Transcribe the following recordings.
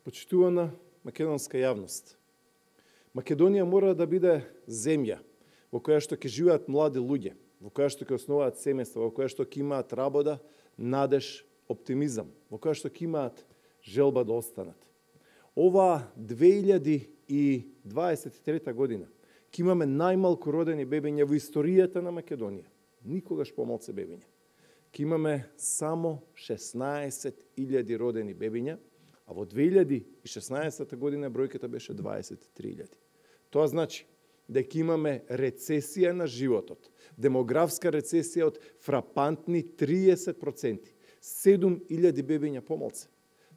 Почитувана македонска јавност, Македонија мора да биде земја во која што ќе живеат млади луѓе, во која што ќе основаат семејства, во која што ќе имаат работа, надеж, оптимизам, во која што ќе имаат желба да останат. Ова 2023 година ќе имаме најмалку родени бебиња во историјата на Македонија. Никогаш помалце бебиња. Ќе имаме само 16.000 родени бебиња, а во 2016 година бројката беше 23.000. Тоа значи дека имаме рецесија на животот, демографска рецесија од фрапантни 30%, 7.000 бебиња помалце.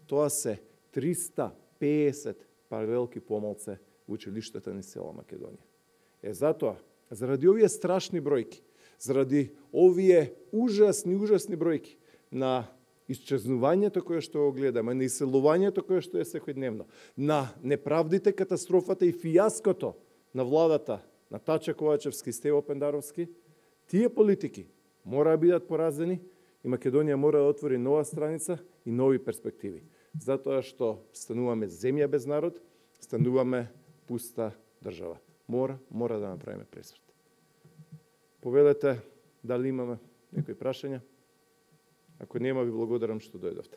Тоа се 350 паралелки помалце во училиштата ни села Македонија. Затоа, заради овие страшни бројки, заради овие ужасни бројки на исчезнувањето кое што го гледаме, на иселувањето кое што е секојдневно, на неправдите, катастрофата и фијаското на владата на Тача Ковачевски и Стево Пендаровски, тие политики мора да бидат поразени и Македонија мора да отвори нова страница и нови перспективи. Затоа што стануваме земја без народ, стануваме пуста држава. Мора да направиме пресврт. Повелете дали имаме некои прашања. Ако нема, ви благодарам што дојдовте.